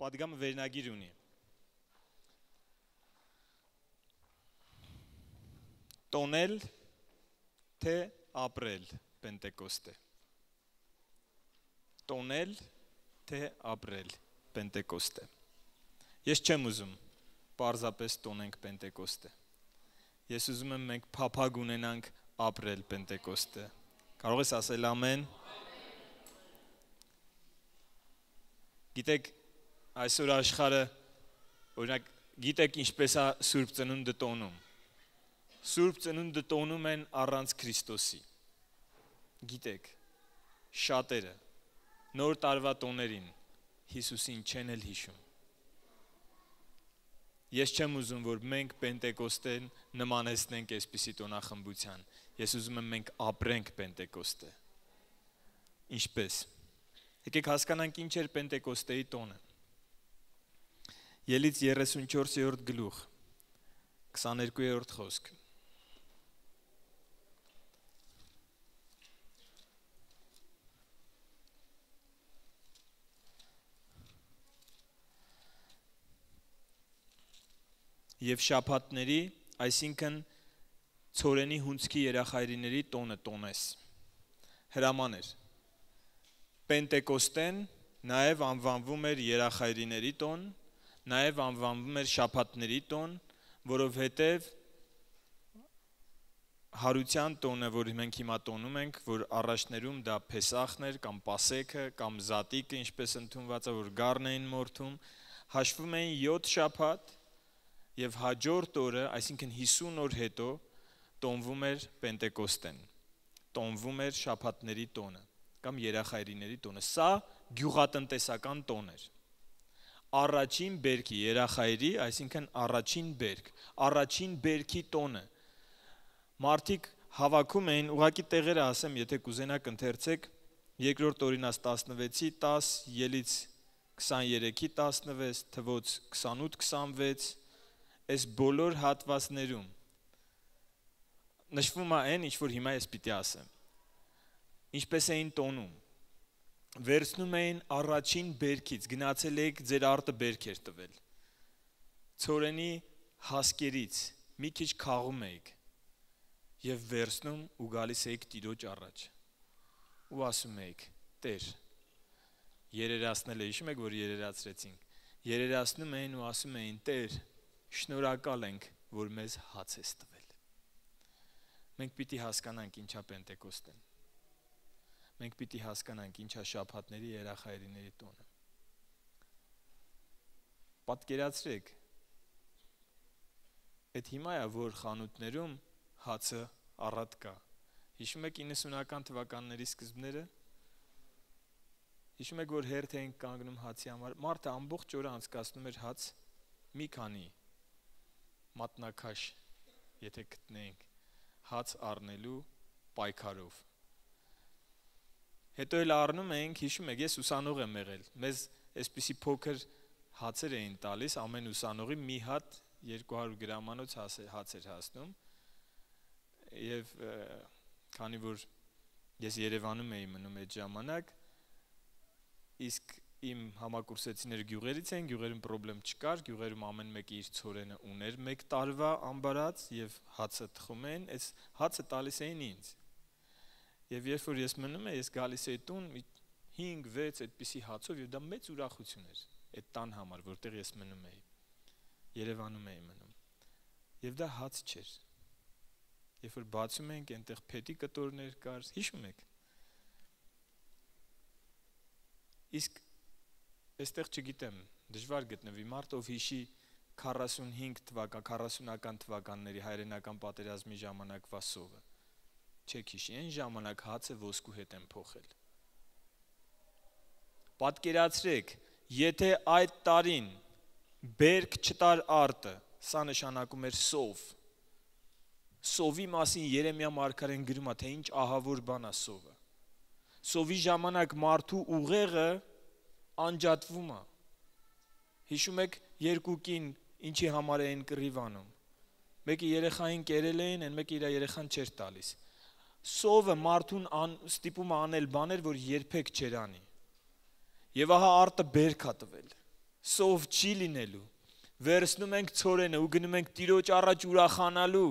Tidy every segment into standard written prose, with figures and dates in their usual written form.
Պատգամը վերնագիր ունի։ Տոնել, թե ապրել Պենտեկոստե։ Տոնել, թե ապրել Պենտեկոստե։ Ես չեմ ուզում պարզապես տոնենք Պենտեկոստե։ Ես ուզում եմ մենք փափագ ունենանք ապրել Պենտեկոստե։ Կարող ես ասել ամեն։ Գիտեք, այսօր աշխարհը, օրինակ, գիտեք ինչպես է Սուրբ Ծնունդը տոնում։ Սուրբ Ծնունդը տոնում են առանց Քրիստոսի։ Գիտեք, շատերը նոր տարվա տոներին Հիսուսին չեն էլ հիշում։ Ես չեմ ուզում, որ մենք Պենտեկոստեն նմանեցնենք այսպիսի տոնախմբության։ Ես ուզում եմ մենք ապրենք Պենտեկոստե։ Ինչպես։ Եկեք հասկանանք ինչ էր Պենտեկոստեի տոնը։ Ելից 34-րդ գլուխ, 22-րդ խոսք։ Եվ շաբաթների, այսինքն ցորենի հունձքի երախայրիների տոնը տոնես։ Հրաման էր։ Պենտեկոստեն նաև անվանվում էր երախայրիների տոն, նաև անվանվում էր շաբաթների տոն, որովհետև հարության տոնը, որ մենք հիմա տոնում ենք, որ առաջներում դա Փեսախն էր կամ Պասեքը կամ Զատիկը, ինչպես ընդունված է, որ գառն էին մորթում, հաշվում էին 7 շաբաթ եւ հաջորդ օրը, այսինքն 50 օր հետո տոնվում էր Պենտեկոստեն, տոնվում էր շաբաթների տոնը կամ երախայրիների տոնը։ Սա գյուղատնտեսական տոն էր։ Առաջին բերքի երախայրի, այսինքն առաջին բերք, առաջին բերքի տոնը։ Մարդիկ հավաքում էին, ուղղակի տեղերը ասեմ, եթե կուզենաք ընթերցեք, երկրորդ Օրինաց 16-ի 10, Ելից 23-ի 16, Թվոց 28-26, այս բոլոր հատվածներում նշվում է այն, ինչ որ հիմա ես պիտի ասեմ։ Ինչպես էին տոնում։ Վերցնում էին առաջին բերքից, գնացել եք ձեր արտը բերք էր տվել։ Ցորենի հասկերից մի քիչ քաղում եք եւ վերցնում ու գալիս եք Տիրոջ առաջ։ Ու ասում եք. Տեր, երերացնել է, հիշում եք, որ երերացրեցինք։ Երերացնում էին ու ասում էին. Տեր, շնորհակալ ենք, որ մեզ հաց ես տվել։ Մենք պիտի հասկանանք ինչա Պենտեկոստեն։ Մենք պիտի հասկանանք ինչա շաբաթների երախայրիների տոնը։ Պատկերացրեք, այդ հիմա է, որ խանութներում հացը առատ կա։ Հիշում եք 90-ական թվականների սկզբները։ Հիշում եք, որ հերթ էին կանգնում հացի համար։ Մարդը ամբողջ օրը անցկացնում էր հաց մի քանի մատնակաշ, եթե գտնեինք, հաց առնելու պայքարով։ Հետո էլ առնում էինք, հիշում եք, ես ուսանող եմ եղել, մեզ այսպիսի փոքր հացեր էին տալիս, ամեն ուսանողի մի հատ 200 գրամանոց հաց էր հասնում, և քանի որ ես Երևանում էի մնում այդ ժամանակ, իսկ իմ համակուրսեցիները գյուղերից են, գյուղերում պրոբլեմ չկար, գյուղերում ամեն մեկը իր ցորենը ուներ մեկ տարվա ամբարած և հացը թխում էին, այս հացը տալիս էին ինձ։ Եվ երբ որ ես մնում եմ, ես գալիս էի տուն 5-6 այդպիսի հացով և դա մեծ ուրախություն էր այդ տան համար, որտեղ ես մնում էի, Երևանում էի մնում։ Եվ դա հաց չէր։ Երբ որ բացում ենք, այնտեղ փետի կտորներ կար, հիշում եք։ Իսկ այստեղ չգիտեմ, դժվար գտնվի մարդ, ով հիշի 40-ական թվականների հայրենական պատերազմի ժամանակվա սովը։ Չեք հիշի, այն ժամանակ հացը ոսկու հետ են փոխել։ Պատկերացրեք, եթե այդ տարին բերք չտար արտը, սա նշանակում էր սով։ Սովի մասին Երեմիա մարգարեն գրում է, թե ինչ ահավոր բան է սովը։ Սովի ժամանակ մարդու ուղեղը անջատվում է։ Հիշում եք երկու կին ինչի համար էին կռիվ անում։ Մեկը երեխային կերել էին, այն մեկը իր երեխան չէր տալիս։ Սովը մարդուն ստիպում է անել բաներ, որ երբեք չեր անի։ Եվ ահա արտը բերք է տվել։ Սով չի լինելու։ Վերցնում ենք ցորենը ու գնում ենք Տիրոջ առաջ ուրախանալու։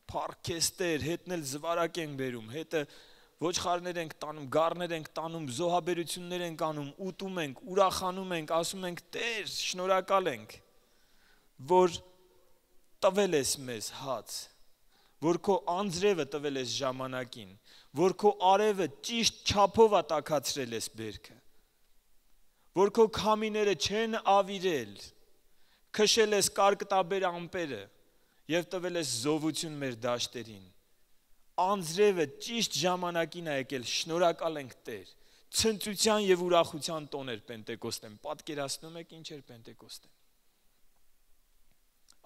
Փառքեստեր, հետն էլ զվարակ ենք բերում, հետը ոչխարներ ենք տանում, գառներ ենք տանում, զոհաբերություններ ենք անում, ուտում ենք, ուրախանում ենք, ասում ենք Տեր, շնորհակալ ենք, որ տվել ես մեզ հաց, որ քո անձրևը տվել ես ժամանակին, որ քո արևը ճիշտ չափով տաքացրել ես բերքը, որ քո քամիները չեն ավիրել, քշել ես կարկտաբեր ամպերը եւ տվել ես զովություն մեր դաշտերին։ Անձրևը ճիշտ ժամանակին է եկել, շնորհակալ ենք Տեր։ Ցնծության եւ ուրախության տոն էր Պենտեկոստեն։ Պատկերացնում եք ինչ էր Պենտեկոստեն։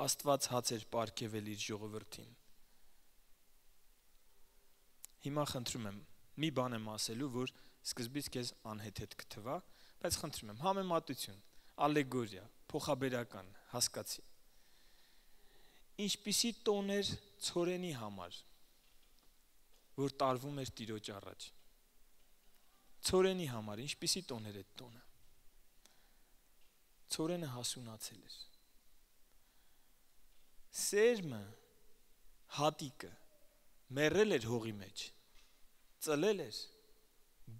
Աստված հաց էր պարգևել իր ժողովրդին։ Հիմա խնդրում եմ, մի բան եմ ասելու, որ սկզբից քեզ անհեթեթ կթվա, բայց խնդրում եմ, համեմատություն, ալեգորիա, փոխաբերական, հասկացի։ Ինչպիսի տոն էր ցորենի համար, որ տարվում էր Տիրոջ առաջ։ Ցորենի համար ինչպիսի տոն էր այդ տոնը։ Ցորենը հասունացել էր։ Սերմը, հատիկը մեռել էր հողի մեջ, ծլել էր,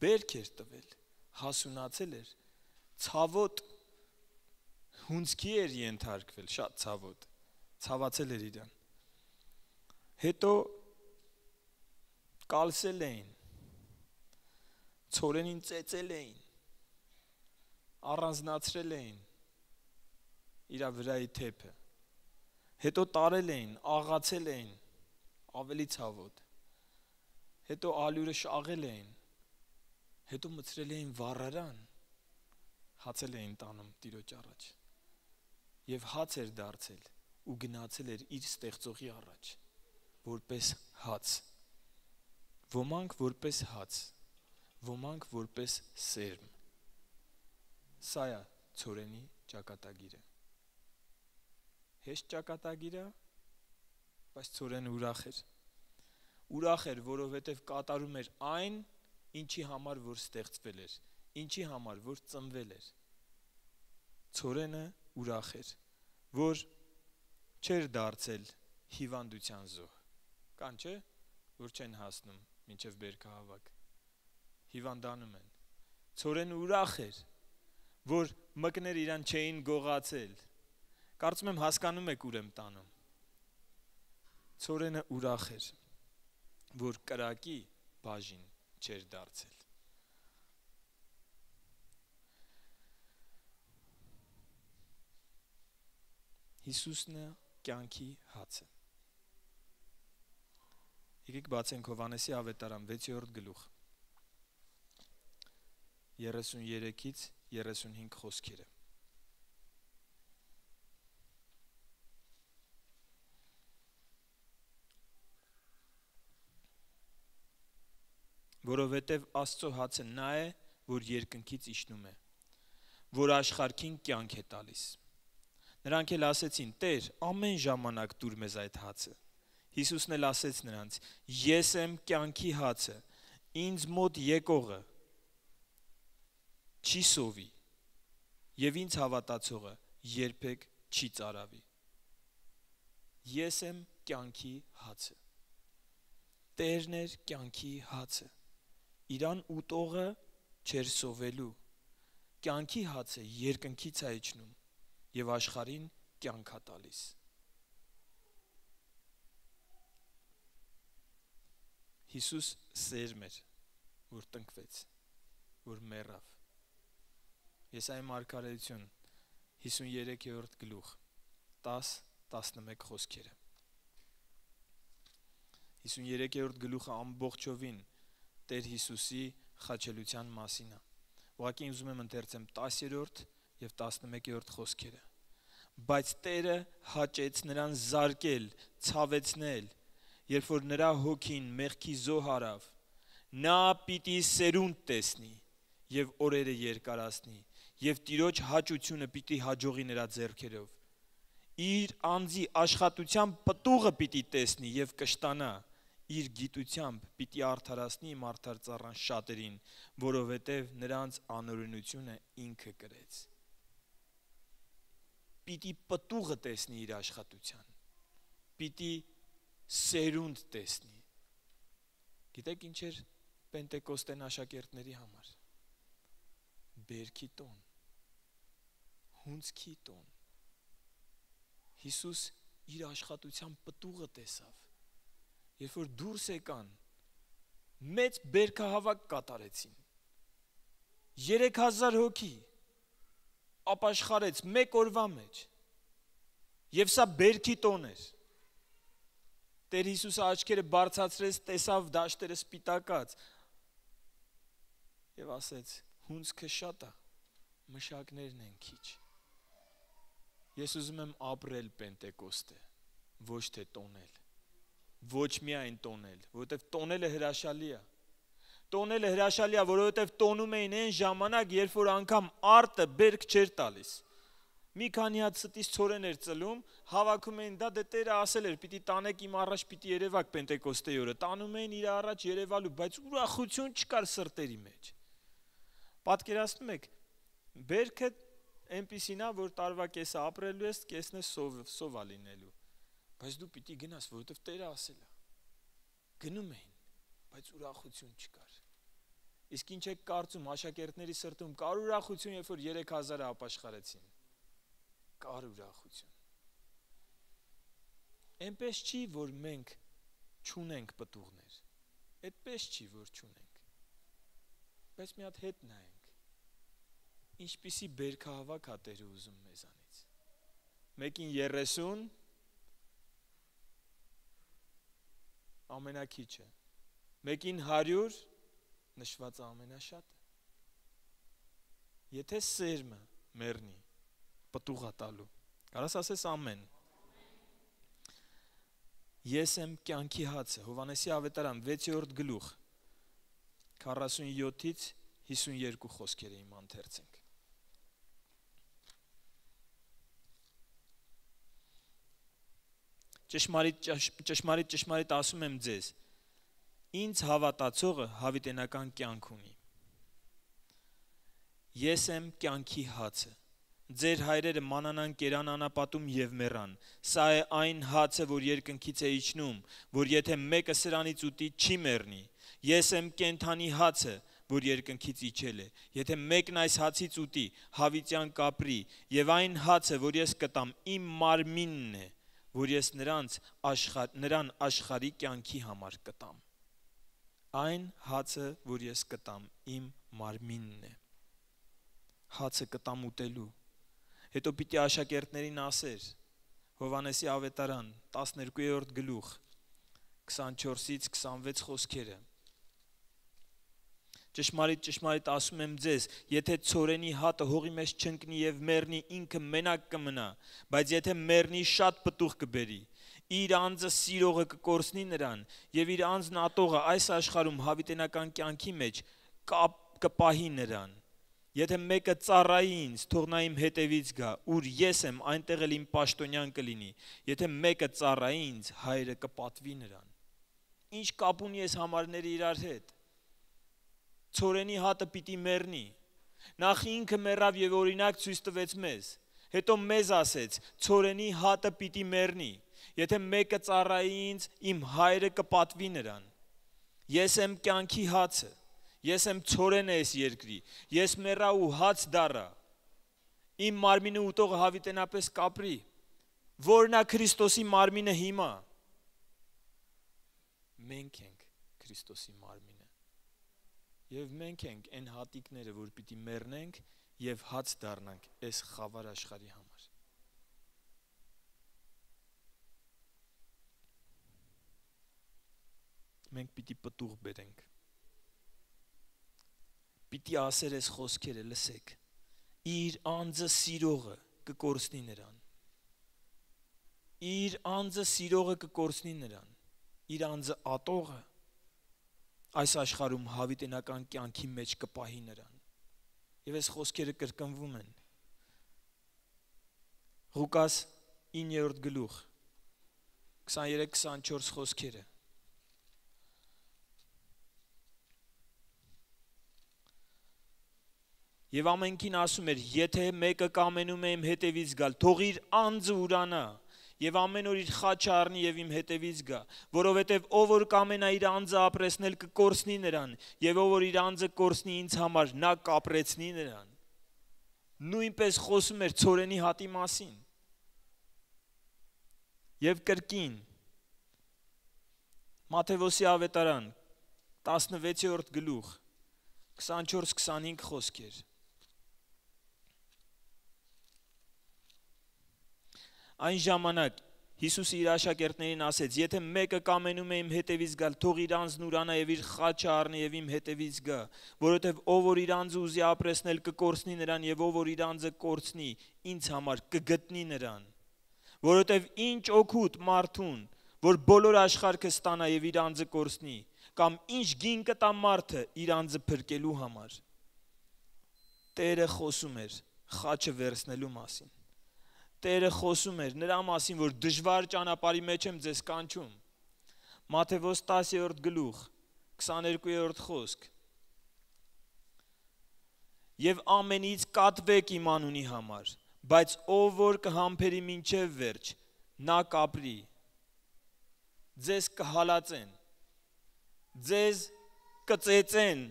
բերք էր տվել, հասունացել էր, ցավոտ հունձքի էր ենթարկվել, շատ ցավոտ, ցավացել էր իրան։ Հետո կալսել էին, ցորենին ծեծել էին, առանձնացրել էին իր վրայի թեփը, հետո տարել էին, աղացել էին, ավելի ցավոտ, հետո ալյուրը շաղել էին, հետո մցրել էին վառարան, հացել էին տանում Տիրոջ առաջ և հաց էր դարձել ու գնացել էր իր ստեղծողի առաջ, որպես հաց, ոմանք որպես հաց, ոմանք որպես սերմ, սա է ցորենի ճակատագիրը, հեշտ ճակատագիր է, բայց ցորենը ուրախ էր, որովհետև կատարում էր այն, ինչի համար որ ստեղծվել էր, ինչի համար որ ծնվել էր, ցորենը ուրախ էր, որ չէր դարձել հիվանդության զոհ, կան չէ, որ չեն հասնում մինչև բերքահավաք, հիվանդանում են, ցորենը ուրախ էր, որ մկներ իրան չէին գողացել, կարծում եմ հասկանում եք ուր եմ տանում, ցորենը ուրախ էր, որ կրակի բաժին չէր դարձել, Հիսուսն է կյանքի հացը։ Եկեք բացենք Հովհաննեսի ավետարան 6-րդ գլուխ 33-ից 35 խոսքերը։ Որովհետև Աստծո հացը նա է, որ երկնքից իջնում է, որ աշխարհին կյանք է տալիս։ Նրանք էլ ասեցին. Տեր, ամեն ժամանակ տուր մեզ այդ հացը։ Հիսուսն էլ ասեց նրանց. Ես եմ կյանքի հացը, ինձ մոտ եկողը չի սովի, եւ ինձ հավատացողը երբեք չի ծարավի։ Ես եմ կյանքի հացը։ Տերն էր կյանքի հացը։ Իրան ուտողը չէր սովելու։ Կյանքի հացը երկնքից է իջնում եւ աշխարհին կյանք է տալիս։ Հիսուս սերմ էր, որ տնկվեց, որ մեռավ։ Եսայի մարգարեություն 53-րդ գլուխ 10-11 խոսքերը։ 53-րդ գլուխը ամբողջովին Տեր Հիսուսի խաչելության մասին է։ Ուղղակի ուզում եմ ընթերցեմ 10-րդ և 11-րդ խոսքերը։ Բայց Տերը հաճեց նրան զարկել, ցավեցնել, երբ որ նրա հոգին մեղքի զոհ արավ, նա պիտի սերունդ տեսնի և օրերը երկարացնի, և Տիրոջ հաճությունը պիտի հաջողի նրա ձեռքերով։ Իր անձի աշխատության պտուղը պիտի տեսնի և կշտանա, իր գիտությամբ պիտի արդարացնի մարդար ծառան շատերին, որովհետև նրանց անօրենությունը ինքը կրեց։ պիտի պտուղը տեսնի իր աշխատության, պիտի սերունդ տեսնի։ Գիտեք ինչ էր Պենտեկոստեն աշակերտների համար։ Բերքի տոն, հունձքի տոն։ Հիսուս իր աշխատության պտուղը տեսավ, երբ որ դուրս եկան, մեծ բերքահավաք կատարեցին, 3000 հոգի ապաշխարեց մեկ օրվա մեջ, և սա բերքի տոն էր։ Տեր Հիսուսը աչքերը բարձրացրեց, տեսավ դաշտերը սպիտակած և ասեց, հունձքը շատ է, մշակներն են քիչ։ Ես ուզում եմ ապրել Պենտեկոստե, ոչ թե տոնել, ոչ միայն տոնել, որովհետև տոնելը հրաշալի է։ Տոնելը հրաշալի է, որովհետև տոնում էին այն ժամանակ, երբ որ անգամ արտը բերք չէր տալիս։ Մի քանի հատ ստից ցորեն էր ծլում, հավաքում էին, դա դե Տերը ասել էր, պիտի տանեք իմ առաջ, պիտի երևաք Պենտեկոստեի օրը, տանում էին իր առաջ երևալու, բայց ուրախություն չկար սրտերի մեջ։ Պատկերացնում եք, բերքը այնպիսին է, որ տարվա կեսը ապրելու ես, կեսն է սովա լինելու, բայց դու պիտի գնաս, որովհետև Տերը ասել է։ Գնում էին, բայց ուրախություն չկար։ Իսկ ինչ եք կարծում, աշակերտների սրտում կար ուրախություն, երբ որ 3000-ը ապաշխարեցին։ Կար ուրախություն։ Այնպես չի, որ մենք չունենք պտուղներ։ Այդպես չի, որ չունենք։ Բայց մի հատ հետ նայենք։ Ինչպիսի բերքահավաք է Տերը ուզում մեզանից։ Մեկին 30 ամենաքիչը, մեկին 100 նշվածը ամենաշատը։ Եթե սերմը մեռնի, պտուղ է տալու։ Կարաս ասես ամեն։ Ես եմ կյանքի հացը, Հովհաննեսի ավետարան 6-րդ գլուխ 47-ից 52 խոսքերը իմ ընթերցենք։ Ճշմարիտ ասում եմ ձեզ, ինձ հավատացողը հավիտենական կյանք ունի։ Ես եմ կյանքի հացը։ Ձեր հայրերը մանանան կերան անապատում և մեռան։ Սա է այն հացը, որ երկնքից է իջնում, որ եթե մեկը սրանից ուտի, չի մեռնի։ Ես եմ կենդանի հացը, որ երկնքից իջել է։ Եթե մեկն այս հացից ուտի, հավիտյան կապրի, և այն հացը, որ ես կտամ, իմ մարմինն է, որ ես նրան աշխարհի կյանքի համար կտամ։ Այն հացը, որ ես կտամ, իմ մարմինն է։ Հացը կտամ ուտելու։ Հետո պիտի աշակերտներին ասեր, Հովհաննեսի ավետարան 12-րդ գլուխ 24-ից 26 խոսքերը։ Ճշմարիտ ասում եմ ձեզ, եթե ցորենի հատը հողի մեջ չընկնի և մեռնի, ինքը մենակ կմնա, բայց եթե մեռնի, շատ պտուղ կբերի։ Իր անձը սիրողը կկորցնի նրան, և իր անձն ատողը այս աշխարհում հավիտենական կյանքի մեջ կպահի նրան։ Եթե մեկը ծառայի ինձ, թող նա իմ հետևից գա, ուր ես եմ, այնտեղ էլ իմ պաշտոնյան կլինի։ Եթե մեկը ծառայի ինձ, հայրը կպատվի նրան։ Ինչ կապ ունի այս համարները իրար հետ։ Ցորենի հատը պիտի մեռնի։ Նախ ինքը մեռավ և օրինակ ցույց տվեց մեզ։ Հետո մեզ ասեց, ցորենի հատը պիտի մեռնի։ Եթե մեկը ծառայի ինձ, իմ հայրը կպատվի նրան։ Ես եմ կյանքի հացը։ Ես եմ ցորենը այս երկրի։ Ես մեռա ու հաց դառա։ Իմ մարմինը ուտողը հավիտենապես կապրի։ Որն է Քրիստոսի մարմինը հիմա։ Մենք ենք Քրիստոսի մարմինը։ Եվ մենք ենք այն հատիկները, որ պիտի մեռնենք և հաց դառնանք այս խավար աշխարհի համար։ Մենք պիտի պտուղ բերենք։ Պիտի ասեր այս խոսքերը, լսեք։ Իր անձը սիրողը կկորցնի նրան։ Իր անձը սիրողը կկորցնի նրան։ Իր անձը ատողը այս աշխարհում հավիտենական կյանքի մեջ կպահի նրան։ Եվ այս խոսքերը կրկնվում են։ Ղուկաս 9-րդ գլուխ 23-24 խոսքերը։ Եվ ամենքին ասում էր, եթե մեկը կամենում է իմ հետևից գալ, թող իր անձը ուրանա, եւ ամեն օր իր խաչը առնի եւ իմ հետևից գա, որովհետեւ ով որ կամենա իր անձը ապրեսնել կկորցնի նրան, եւ ով որ իր անձը կորցնի ինձ համար, նա կապրեցնի նրան։ Նույնպես խոսում էր ցորենի հատի մասին։ Եվ կրկին Մատթեոսի ավետարան 16-րդ գլուխ 24-25 խոսքեր։ Այն ժամանակ Հիսուսը իր աշակերտներին ասեց. եթե մեկը կամենում է իմ հետևից գալ, թող իր անձն ուրանա եւ իր խաչը առնի եւ իմ հետևից գա, որովհետեւ ով որ իր անձը ուզի ապրեսնել կկորցնի նրան եւ ով որ իր անձը կորցնի, ինձ համար կգտնի նրան, որովհետեւ ինչ օգուտ մարդուն, որ բոլոր աշխարհը ստանա եւ իր անձը կորցնի, կամ ինչ գին կտա մարդը իր անձը փրկելու համար։ Տերը խոսում էր խաչը վերցնելու մասին։ Տերը խոսում էր նրա մասին, որ դժվար ճանապարհի մեջ եմ ձեզ կանչում։ Մատթեոս 10-րդ գլուխ 22-րդ խոսք։ Եվ ամենից կատվեք իմ անունի համար, բայց ով որ կհամբերի մինչև վերջ, նա կապրի։ Ձեզ կհալածեն, ձեզ կծեծեն,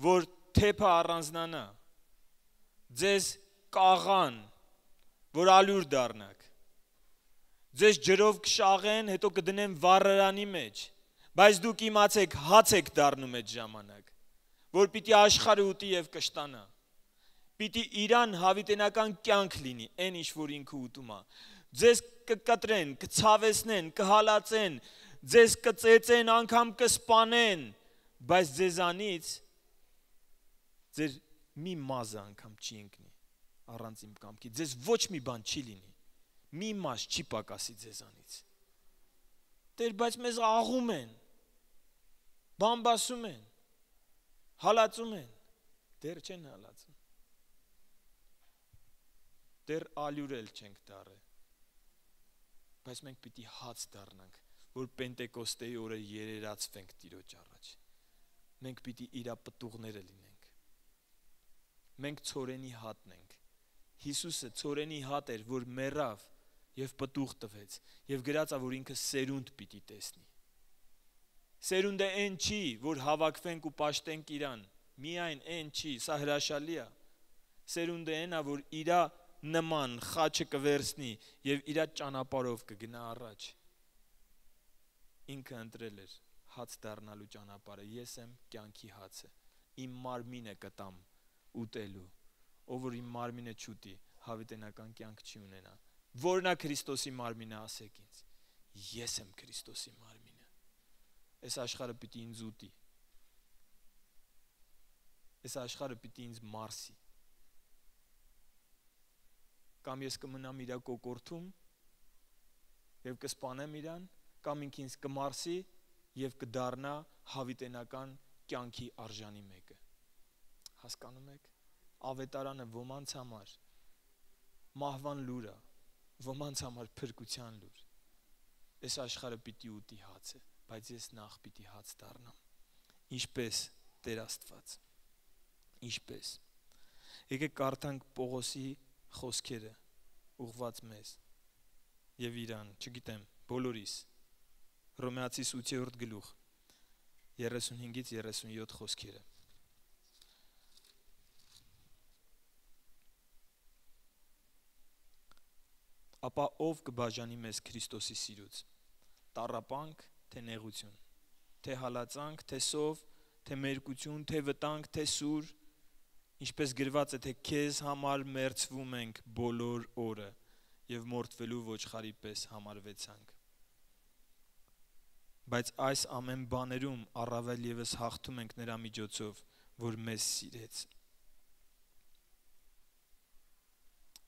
որ թեփը առանձնանա, ձեզ կաղան, որ ալյուր դառնաք, ձեզ ջրով կշաղեն, հետո կդնեն վառարանի մեջ, բայց դուք իմացեք հաց եք դառնում այդ ժամանակ, որ պիտի աշխարհը ուտի եւ կշտանա, պիտի իրան հավիտենական կյանք լինի, այն ինչ որ ինքը ուտում է, ձեզ կկտրեն, կցավեցնեն, կհալածեն, ձեզ կծեծեն, անգամ կսպանեն, բայց ձեզանից ձեր մի մազը անգամ չի ընկնի առանց իմ կամքի, ձեզ ոչ մի բան չի լինի, մի մաշ չի պակասի ձեզանից։ Տեր, բայց մեզ աղում են, բամբասում են, հալածում են, դեռ չեն հալածում, դեռ ալյուրել չենք դառել, բայց մենք պիտի հաց դառնանք, որ Պենտեկոստեի օրը երերացվենք Տիրոջ առաջ, մենք պիտի իրա պտուղները լինենք, մենք ցորենի հատն ենք, Հիսուսը ցորենի հատ էր, որ մեռավ եւ պտուղ տվեց եւ գրածա, որ ինքը սերունդ պիտի տեսնի։ Սերունդը այն չի, որ հավաքվենք ու պաշտենք իրան, միայն այն չի, սա հրաշալի է։ Սերունդը այն է, որ իրա նման խաչը կվերցնի եւ իրա ճանապարհով կգնա առաջ։ Ինքը ընտրել էր հաց դառնալու ճանապարհը, ես եմ կյանքի հացը, իմ մարմինը կտամ ուտելու, ով որ իմ մարմինը չուտի, հավիտենական կյանք չի ունենա։ Որն է Քրիստոսի մարմինը, ասեք ինձ։ Ես եմ Քրիստոսի մարմինը։ Այս աշխարհը պիտի ինձ ուտի։ Այս աշխարհը պիտի ինձ մարսի։ Կամ ես կմնամ իրա կոկորթում եւ կսպանեմ իրան, կամ ինքն ինձ կմարսի եւ կդառնա հավիտենական կյանքի արժանի մեկը։ Հասկանում եք։ Ավետարանը ոմանց համար մահվան լուր է, ոմանց համար փրկության լուր։ Այս աշխարհը պիտի ուտի հացը, բայց ես նախ պիտի հաց դառնամ։ Ինչպես Տեր Աստված։ Ինչպես։ Եկեք կարդանք Պողոսի խոսքերը ուղված մեզ եւ իրան, չգիտեմ, բոլորիս։ Հռոմեացիս 8-րդ գլուխ 35-ից 37 խոսքերը։ Ապա ով կբաժանի մեզ Քրիստոսի սիրուց, տառապանք, թե նեղություն, թե հալածանք, թե սով, թե մերկություն, թե վտանգ, թե սուր, ինչպես գրված է, թե քեզ համար մերձվում ենք բոլոր օրը եւ մորթվելու ոչխարի պես համարվեցանք։ Բայց այս ամեն բաներում առավել եւս հաղթում ենք նրա միջոցով, որ մեզ սիրեց։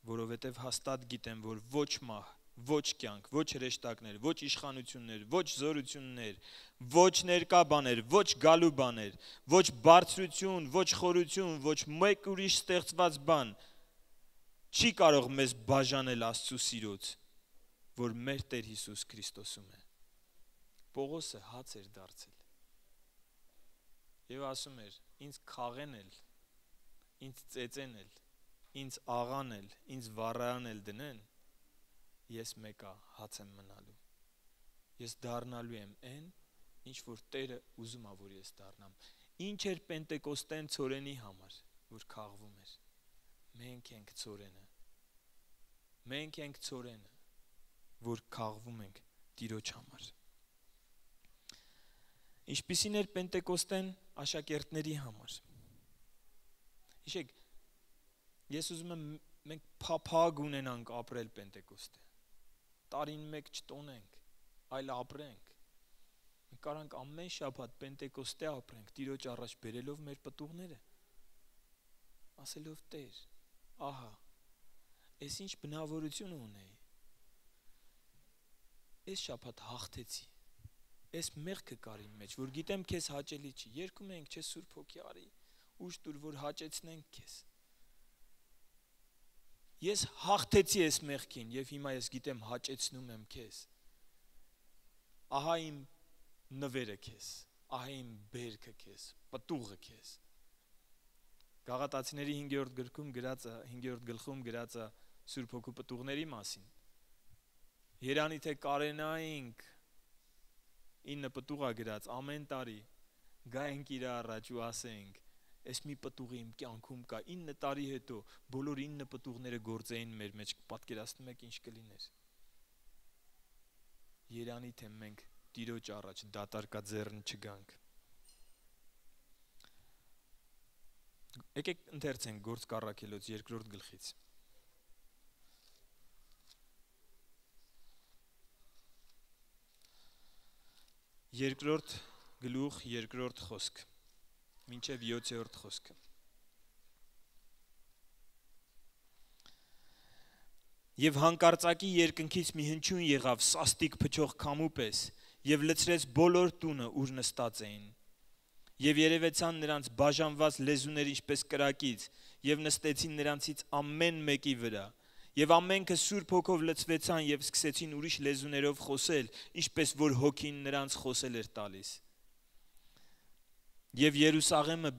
Որովհետև հաստատ գիտեմ, որ ոչ մահ, ոչ կյանք, ոչ հրեշտակներ, ոչ իշխանություններ, ոչ զորություններ, ոչ ներկա բաներ, ոչ գալու բաներ, ոչ բարձրություն, ոչ խորություն, ոչ մեկ ուրիշ ստեղծված բան չի կարող մեզ բաժանել Աստծո սիրուց, որ մեր Տեր Հիսուս Քրիստոսում է։ Պողոսը հաց էր դարձել։ Եվ ասում էր, ինձ քաղեն էլ, ինձ ծեծենել, ինձ աղանել, ինձ վառանել դնեն, ես մեկա հաց եմ մնալու։ Ես դառնալու եմ այն, ինչ որ Տերը ուզում է, որ ես դառնամ։ Ինչ էր Պենտեկոստեն ծորենի համար, որ քաղվում էր։ Մենք ենք ծորենը։ Մենք ենք ծորենը, որ քաղվում ենք Տիրոջ համար։ Ինչպիսին էր Պենտեկոստեն աշակերտների համար։ Հիշեք, ես ուզում եմ մենք փափագ ունենանք ապրել Պենտեկոստե։ Տարին մեկ չտոնենք, այլ ապրենք։ Մենք կարանք ամեն շաբաթ Պենտեկոստե ապրենք, Տիրոջ առաջ բերելով մեր պտուղները, ասելով Տեր, ահա, ես ինչ բնավորություն ունեի, ես շաբաթ հաղթեցի, ես մեղքը կար իմ մեջ, որ գիտեմ քեզ հաճելի չի, երգում ենք, չէ Սուրբ Հոգի արի, ուժ տուր, որ հաճեցնենք քեզ։ Ես հաղթեցի այս մեղքին եւ հիմա ես գիտեմ հաճեցնում եմ քեզ։ Ահա իմ նվերը քեզ, ահա իմ բերքը քեզ, պտուղը քեզ։ Գաղատացիների 5-րդ գրքում գրած 5-րդ գլխում գրած է Սուրբ Հոգու պտուղների մասին։ Երանի թե կարենայինք 9 պտուղ է գրած ամեն տարի գայենք իր առաջ ու ասենք Այս մի պտուղը իմ կյանքում կա 9 տարի հետո բոլոր 9 պտուղները գործեին մեր մեջ, պատկերացնում եք ինչ կլիներ։ Երանի թե մենք Տիրոջ առաջ դատարկաձեռն չգանք։ Եկեք ընթերցենք Գործք առաքելոց 2-րդ գլխից։ Երկրորդ գլուխ 2-րդ խոսք։ Մինչև 7-րդ խոսքը։ Եվ հանկարծակի երկնքից մի հնչյուն եղավ սաստիկ փչող քամու պես եւ լցրեց բոլոր տունը, ուր նստած էին։ Եվ երևեցան նրանց բաժանված լեզուներ ինչպես կրակից եւ նստեցին նրանցից ամեն մեկի վրա։ Եվ ամենքը Սուրբ Հոգով լցվեցան եւ սկսեցին ուրիշ լեզուներով խոսել, ինչպես որ Հոգին նրանց խոսել էր տալիս։ Եվ Երուսաղեմում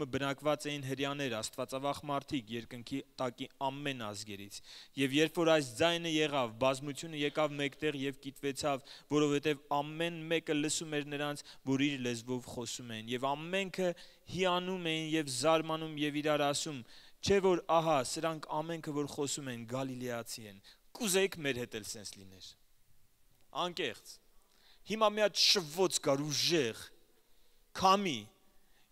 բնակված էին հրյաներ, աստվածավախ մարդիկ, երկնքի տակի ամեն ազգերից։ Եվ երբ որ այս ձայնը եղավ, բազմությունը եկավ մեկտեղ եւ կիտվեցավ, որովհետեւ ամեն մեկը լսում էր նրանց, որ իր լեզվով խոսում էին։ Եվ ամենքը հիանում էին եւ զարմանում եւ իրար ասում. Չէ որ ահա սրանք ամենքը որ խոսում են գալիլեացի են։ Կուզեիք մեր հետ էլ սենց լիներ։ Անկեղծ։ Հիմա մի հատ շվոց կար ուժեղ, քամի,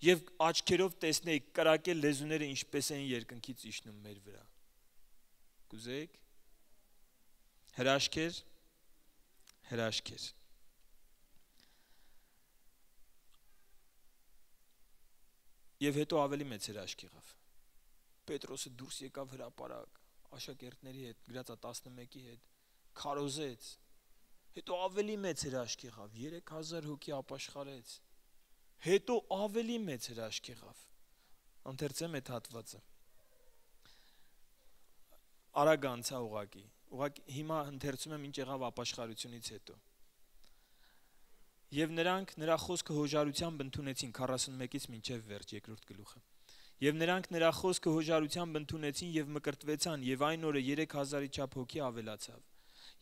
եւ աչքերով տեսնեիք կրակել լեզուները ինչպես են երկնքից իջնում մեր վրա։ Կուզեիք։ Հրաշքեր։ Եվ հետո ավելի մեծ հրաշք եղավ։ Պետրոսը դուրս եկավ հրապարակ, աշակերտների հետ, գրածա 11-ի հետ, քարոզեց։ Հետո ավելի մեծ հրաշք եղավ, 3000 հոգի ապաշխարեց։ Հետո ավելի մեծ հրաշք եղավ։ Ընթերցեմ այդ հատվածը։ Արագ անցա ուղակի հիմա ընթերցում եմ ինչ եղավ ապաշխարությունից հետո։ Եվ նրանք նրա խոսքը հոժարությամբ ընդունեցին 41-ից մինչև վերջ 2-րդ գլուխը։ Եվ նրանք նրա խոսքը հոժարությամբ ընդունեցին եւ մկրտվեցան, եւ այն օրը 3000-ի չափ հոգի ավելացավ։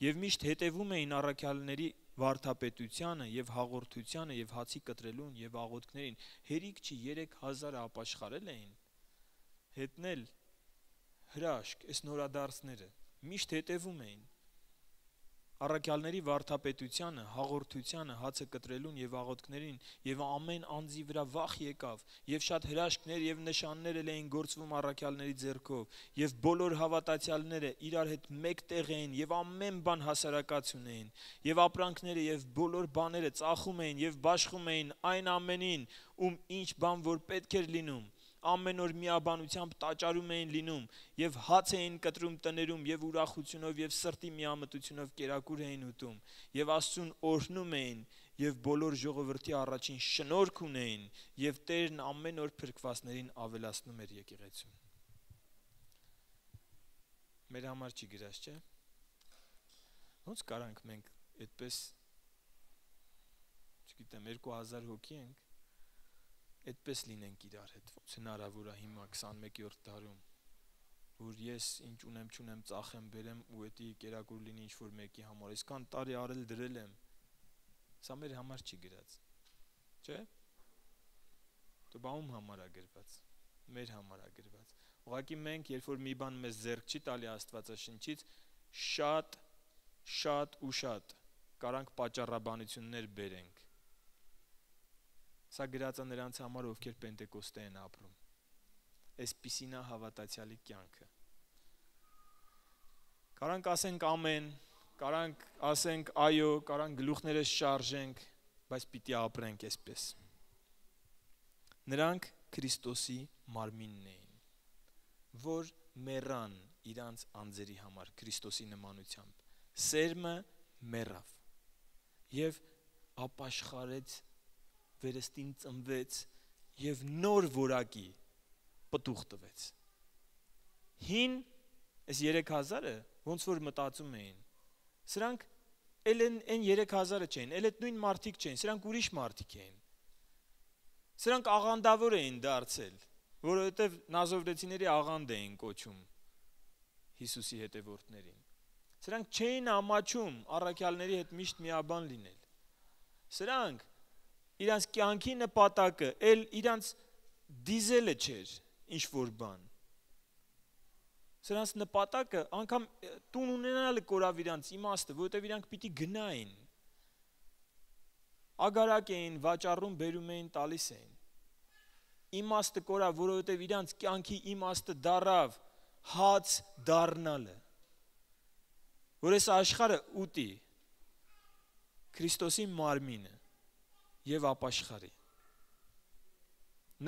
Եվ միշտ հետևում էին առաքյալների վարդապետությանը եւ հաղորդությանը եւ հացի կտրելուն եւ աղոթքներին։ Հերիք չի 3000-ը ապաշխարել էին։ Հետնել հրաշք, այս նորադարձները միշտ հետևում էին առաքյալների վարդապետությանը, հաղորդությանը, հացը կտրելուն եւ աղոթքներին եւ ամեն անձի վրա վախ եկավ եւ շատ հրաշքներ եւ նշաններ էին գործվում առաքյալների ձեռքով եւ բոլոր հավատացյալները իրար հետ մեկտեղ էին եւ ամեն բան հասարակած ունեին եւ ապրանքները եւ բոլոր բաները ծախում էին եւ բաշխում էին այն ամենին, ինչ բան որ պետք էր լինում։ Ամեն օր միաբանությամբ տաճարում էին լինում եւ հաց էին կտրում տներում եւ ուրախությունով եւ սրտի միամտությունով կերակուր էին ուտում եւ Աստծուն օրհնում էին եւ բոլոր ժողովրդի առաջին շնորհք ունեին եւ Տերն ամեն օր փրկվածներին ավելացնում էր եկեղեցուն։ Մեր համար չի գրած, չէ՞։ Ոնց կարանք մենք այդպես չգիտեմ 2000 հոգի ենք այդպես լինենք իրար հետ, ոնց հնարավոր է հիմա 21-րդ դարում, որ ես ինչ ունեմ ծախեմ, բերեմ ու էդի կերակուր լինի ինչ-որ մեկի համար, այսքան տարի արել դրել եմ, սա մեր համար չի գրած, չէ՞, դու բանում համար է գրված, մեր համար է գրված, ուղղակի մենք, երբ որ մի բան մեզ ձեռք չի տալի Աստվածաշնչից, շատ կարանք պատճառաբանություններ բերենք, սա գրածը նրանց համար, ովքեր Պենտեկոստե են ապրում, այսպիսին է հավատացյալի կյանքը, կարանք ասենք ամեն, կարանք ասենք այո, կարանք գլուխներս շարժենք, բայց պիտի ապրենք այսպես, նրանք Քրիստոսի մարմինն էին, որ մեռան իրանց անձերի համար, Քրիստոսի նմանությամբ, սերմը մեռավ և ապաշխարեց, վերստին ծնվեց և նոր որակի պտուղ տվեց, հին, այս 3000-ը, ոնց որ մտածում էին, սրանք էլ են 3000-ը չէին, էլ այդ նույն մարդիկ չէին, սրանք ուրիշ մարդիկ էին, սրանք աղանդավոր էին դարձել, որովհետև նազովրեցիների աղանդ էին կոչում Հիսուսի հետևորդներին, սրանք չէին ամաչում առաքյալների հետ միշտ միաբան լինել, սրանք իրանց կյանքի նպատակը էլ իրանց դիզելը չէր ինչ-որ բան, սրանց նպատակը անգամ տուն ունենալը կորավ իրանց իմաստը, որովհետև իրանք պիտի գնային, ագարակ էին, վաճառում, բերում էին, տալիս էին, իմաստը կորավ, որովհետև իրանց կյանքի իմաստը դարավ հաց դառնալը, որ այս աշխարհը ուտի Քրիստոսի մարմինը և ապաշխարի,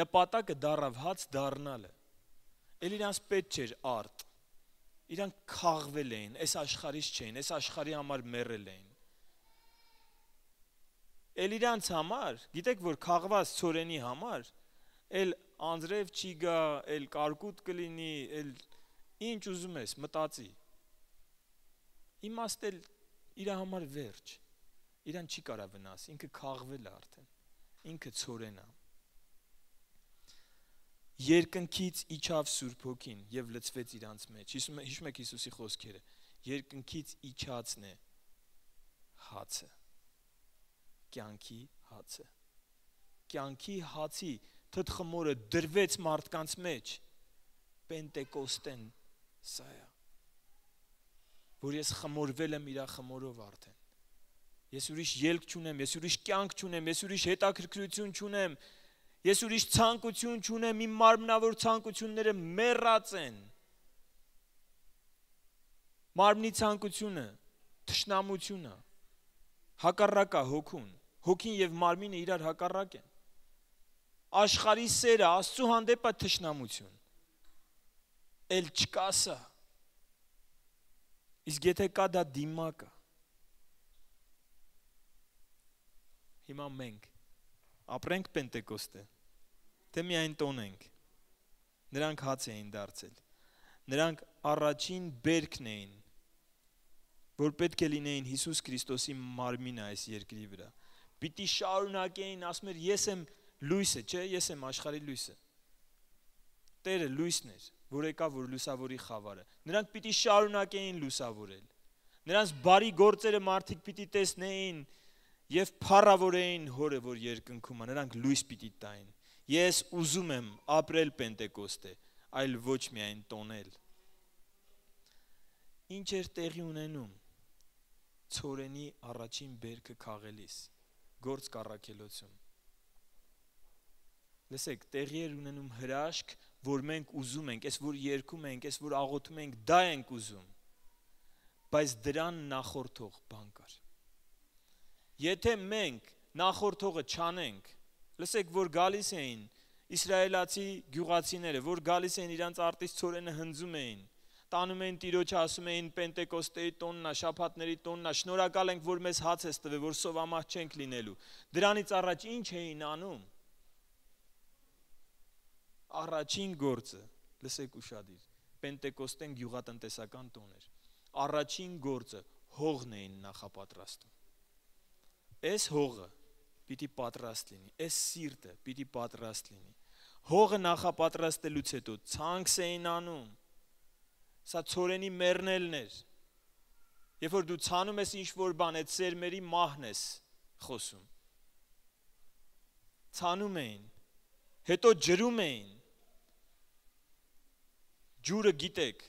նպատակը դարավ հաց դառնալը, էլ իրանց պետք չէր արդ, իրանք քաղվել էին, այս աշխարհից չէին, այս աշխարհի համար մեռել էին, էլ իրանց համար, գիտեք որ քաղված ցորենի համար, էլ անձրև չի գա, էլ կարկուտ կլինի, էլ ինչ ուզում ես, մտածի, իմաստ էլ իրա համար վերջ, իրան չի կարա վնաս, ինքը քաղվել է արդեն, ինքը ցորեն է, երկնքից իջավ Սուրբ Հոգին և լցվեց իրանց մեջ, հիշում եք Հիսուսի խոսքերը, երկնքից իջածն է հացը, կյանքի հացը, կյանքի հացի թթխմորը դրվեց մարդկանց մեջ, Պենտեկոստեն սա է, որ ես խմորվել եմ իրա խմորով արդեն, ես ուրիշ ելք չունեմ, ես ուրիշ կյանք չունեմ, ես ուրիշ հետաքրքրություն չունեմ, ես ուրիշ ցանկություն չունեմ, իմ մարմնավոր ցանկությունները մեռած են, մարմնի ցանկությունը, թշնամությունը, հակառակ է հոգուն, հոգին և մարմինը իրար հակառակ են, աշխարհի սերը, Աստծու հանդեպ է թշնամություն, էլ չկա սա, իսկ եթե կա դա դիմակ է, հիմա մենք ապրենք Պենտեկոստե, թե միայն տոնենք, նրանք հաց էին դարձել, նրանք առաջին բերքն էին, որ պետք է լինեին Հիսուս Քրիստոսի մարմինը այս երկրի վրա, պիտի շարունակեին, ասում էր ես եմ լույսը, չէ, ես եմ աշխարհի լույսը, Տերը լույսն էր, որ եկավ որ լուսավորի խավարը, նրանք պիտի շարունակեին լուսավորել, նրանց բարի գործերը մարդիկ պիտի տեսնեին և փառավորեին հորը, որ երկնքում է, նրանք լույս պիտի տային, ես ուզում եմ ապրել Պենտեկոստե, այլ ոչ միայն տոնել, ինչ էր տեղի ունենում, ցորենի առաջին բերքը քաղելիս, գործ կառաքելոցում, լսեք, տեղի էր ունենում հրաշք, որ մենք ուզում ենք, այս որ երգում ենք, այս որ աղոթում ենք, դա ենք ուզում, բայց դրան նախորդող բան կար, եթե մենք նախորդողը չանենք, լսեք, որ գալիս էին իսրայելացի գյուղացիները, որ գալիս էին իրանց արտից ցորենը հնձում էին, տանում էին Տիրոջը, ասում էին Պենտեկոստեի տոննա, շաբաթների տոննա, շնորհակալ ենք, որ մեզ հաց ես տվել, որ սովամահ չենք լինելու, դրանից առաջ ինչ էին անում, առաջին գործը, լսեք ուշադիր, Պենտեկոստեն գյուղատնտեսական տոն էր, առաջին գործը հողն էին նախապատրաստում, այս հողը պիտի պատրաստ լինի, այս սիրտը պիտի պատրաստ լինի։ Հողը նախապատրաստելուց հետո ցանքս էին անում, սա ցորենի մեռնելն էր։ Երբ որ դու ցանում ես ինչ-որ բան, այդ սերմերի մահն ես խոսում։ Ցանում էին, հետո ջրում էին։ Ջուրը գիտեք,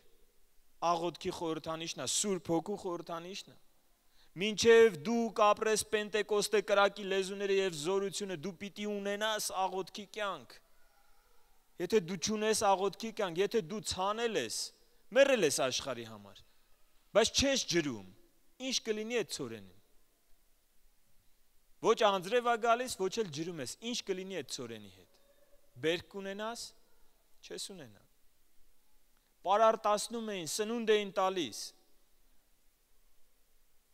աղոթքի խորհրդանիշն է, Սուրբ Հոգու խորհրդանիշն է։ Մինչև դու կապրես Պենտեկոստե կրակի լեզուները եւ զորությունը, դու պիտի ունենաս աղոթքի կյանք։ Եթե դու չունես աղոթքի կյանք, եթե դու ցանել ես, մեռել ես աշխարհի համար, բայց չես ջրում, ինչ կլինի այդ ցորենին։ Ոչ անձրև է գալիս, ոչ էլ ջրում ես, ինչ կլինի այդ ցորենի հետ։ Բերք կունենաս, չես ունենա։ Պարարտացնում էին, սնունդ էին տալիս։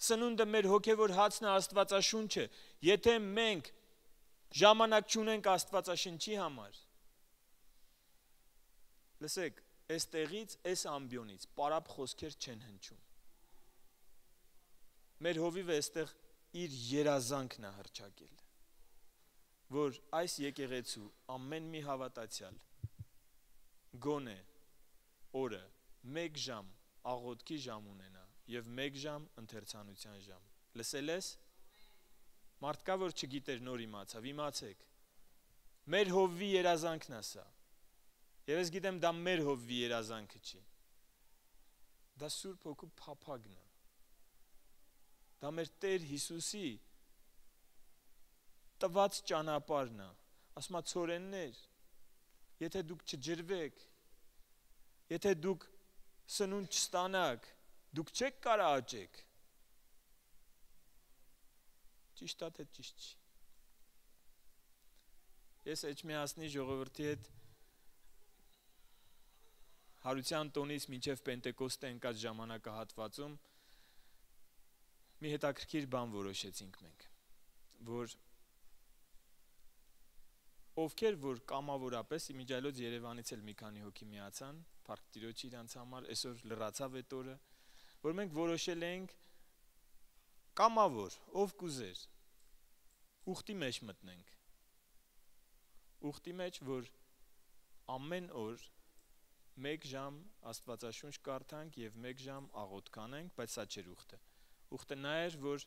Սնունդը մեր հոգևոր հացն է, Աստվածաշունչը։ Եթե մենք ժամանակ չունենք Աստվածաշնչի համար, լսեք, այստեղից, այս ամբիոնից պարապ խոսքեր չեն հնչում։ Մեր հովիվը այստեղ իր երազանքն է հռչակել, որ այս եկեղեցու ամեն մի հավատացյալ գոնե օրը 1 ժամ աղոթքի ժամ ունենա եւ 1 ժամ ընթերցանության ժամ։ Լսել ես։ Մարդ կա, որ չգիտեր, նոր իմացավ, իմացեք։ Մեր հովվի երազանքն է սա։ Եվ ես գիտեմ, դա մեր հովվի երազանքը չի։ Դա Սուրբ Հոգու փափագն է։ Դա մեր Տեր Հիսուսի տված ճանապարհն է։ Ասում է ցորեններ, եթե դուք չջրվեք, եթե դուք սնունդ չստանաք, դուք չեք կարող աճեք։ Ճիշտ է, թե ճիշտ չի։ Ես Էջմիածնի ժողովրդի հետ հարության տոնից մինչև Պենտեկոստե ընկած ժամանակահատվածում մի հետաքրքիր բան որոշեցինք մենք, որ ովքեր որ կամավորապես իմիջիայլոց Երևանից էլ մի քանի հոգի միացան, Փառք Տիրոջի իրանց համար, այսօր լրացավ այդ օրը, որ մենք որոշել ենք կամավոր, ով կուզեր, ուխտի մեջ մտնենք։ Ուխտի մեջ, որ ամեն օր 1 ժամ Աստվածաշունչ կարդանք եւ 1 ժամ աղոթք անենք, բայց սա չէր ուխտը։ Ուխտը նա էր, որ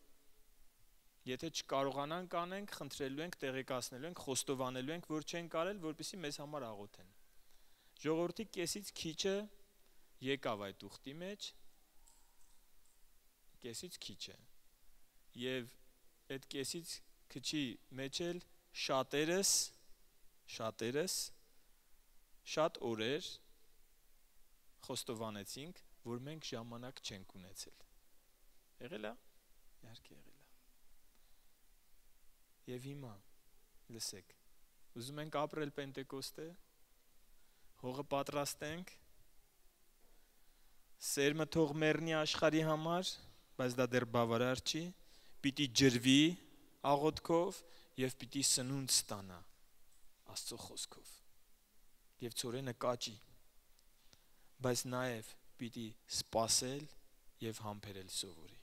եթե չկարողանանք անենք, խնդրելու ենք, տեղեկացնելու ենք, խոստովանելու ենք, որ չեն կարել, որպեսզի մեզ համար աղոթեն։ Ժողովրդի կեսից քիչը եկավ այդ ուխտի մեջ, կեսից քիչը։ Եվ այդ կեսից քչի մեջ էլ շատերս շատ օրեր խոստովանեցինք, որ մենք ժամանակ չենք ունեցել։ Եղել է։ Իհարկե եղել է։ Եվ հիմա լսեք, ուզում ենք ապրել Պենտեկոստե, հողը պատրաստենք, սերմը թող մեռնի աշխարհի համար, բայց դա դեռ բավարար չի, պիտի ջրվի աղոթքով եւ պիտի սնունդ ստանա Աստծո խոսքով։ Եվ ցորենը կաճի, բայց նաեւ պիտի սпасել եւ համբերել սովորի։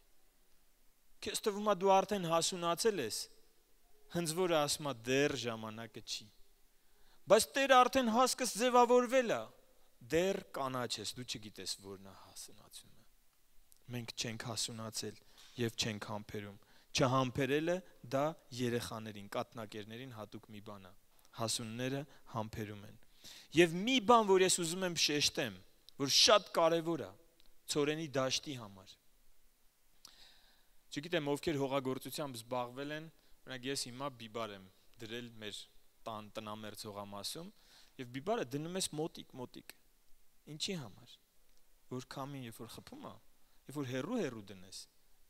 Քեզ թվում է դու արդեն հասունացել ես, հնձվորը ասում է դեռ ժամանակը չի։ Բայց Տերը արդեն հասկս ձևավորվել է, դեռ կանաչ ես, դու չգիտես որն է հասունացումը։ Մենք չենք հասունացել եւ չենք համբերում։ Չհամբերելը դա երեխաներին, կաթնակերներին հատուկ մի բան է։ Հասունները համբերում են։ Եվ մի բան, որ ես ուզում եմ շեշտեմ, որ շատ կարևոր է ցորենի դաշտի համար։ Չգիտեմ, ովքեր հողագործությամբ զբաղվել են, օրինակ ես հիմա բիբար եմ դրել մեր տնամերձ հողամասում, եւ բիբարը դնում ես մոտիկ։ Ինչի համար։ Որ քամին երբ որ խփում է, երբ որ հեռու դնես,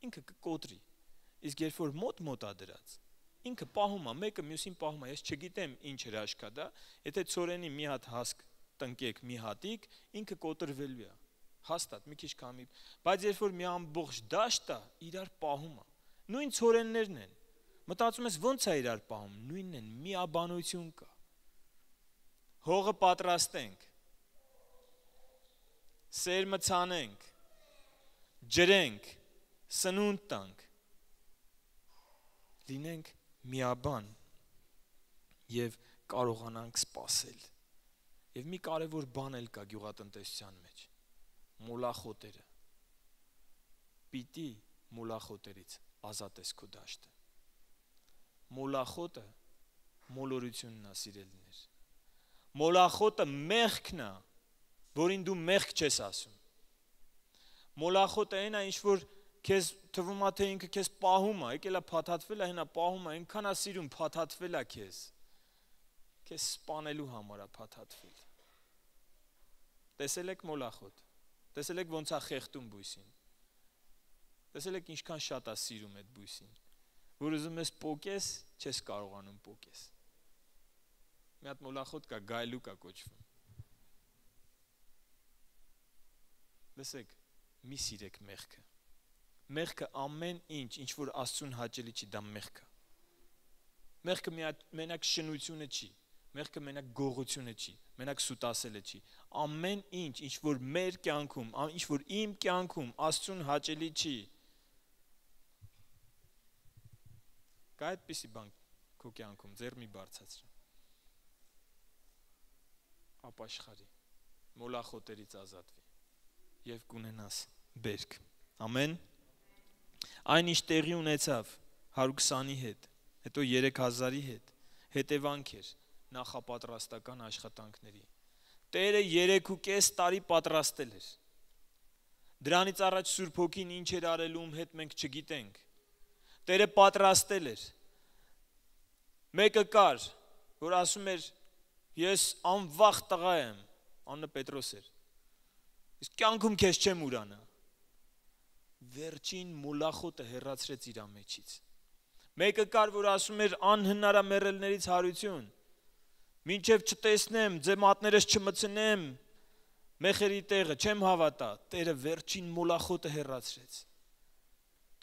ինքը կկոտրի։ Իսկ երբ որ մոտ է դրած, ինքը պահում է, մեկը մյուսին պահում է։ Ես չգիտեմ ինչ հրաշք է դա, եթե ցորենի մի հատ հասկ տնկեք մի հատիկ, ինքը կոտրվելու է։ Հաստատ մի քիչ քամի, բայց երբ որ մի ամբողջ դաշտ է, իրար պահում է։ Նույն ցորեններն են։ Մտածում ես ո՞նց է իրար պահում, նույնն են, միաբանություն կա։ Հողը պատրաստենք, սերմը ցանենք, ջրենք, սնունդ տանք, լինենք միաբան եւ կարողանանք սпасել։ Եվ մի կարևոր բան էլ կա գյուղատնտեսության մեջ։ Մոլախոտերը։ Պիտի մոլախոտերից ազատես քո դաշտը։ Մոլախոտը մոլորությունն է, սիրելիներ։ Մոլախոտը մեղքն է, որին դու մեղք չես ասում։ Մոլախոտը այն է, ինչ որ քեզ թվում է, թե ինքը քեզ պահում է, եկել է փաթաթվել է, հենա պահում է, այնքան է սիրում, փաթաթվել է քեզ։ Քեզ սպանելու համար է փաթաթվել։ Տեսել եք մոլախոտ։ Տեսել եք ոնց է խեղդում բույսին։ Տեսել եք ինչքան շատ է սիրում այդ բույսին, որ ուզում ես պոկես, չես կարողանում պոկես։ Մի հատ մոլախոտ կա, գայլուկ է կոչվում։ Լսեք, մի սիրեք մեղքը։ Մեղքը ամեն ինչ որ Աստծուն հաճելի չի, դա մեղք է։ Մեղքը մենակ շնությունը չի, մեղքը մենակ գողությունը չի, մենակ սուտասելը չի։ Ամեն ինչ որ մեր կյանքում, ինչ որ իմ կյանքում Աստծուն հաճելի չի։ Կա այդպիսի բան քո կյանքում, ձեռ մի բարձրացրու։ Ապաշխարի, մոլախոտերից ազատվի եւ կունենաս բերք։ Ամեն։ Այն ինչ տեղի ունեցավ 120-ի հետ, հետո 3000-ի հետ, հետևանք էր նախապատրաստական աշխատանքների։ Տերը 3.5 տարի պատրաստել էր։ Դրանից առաջ Սուրբ Հոգին ինչ էր արելու հետ մենք չգիտենք։ Տերը պատրաստել էր։ Մեկը կար, որ ասում էր, ես անվախ տղա եմ, անունը Պետրոս էր։ Իսկ կյանքում քեզ չեմ ուրանա։ Վերջին մոլախոտը հեռացրեց իր մեջից։ Մեկը կար, որ ասում էր անհնար է մեռելներից հարություն։ Մինչև չտեսնեմ, ձեր մատներս չմցնեմ, մեխերի տեղը չեմ հավատա։ Տերը վերջին մոլախոտը հեռացրեց։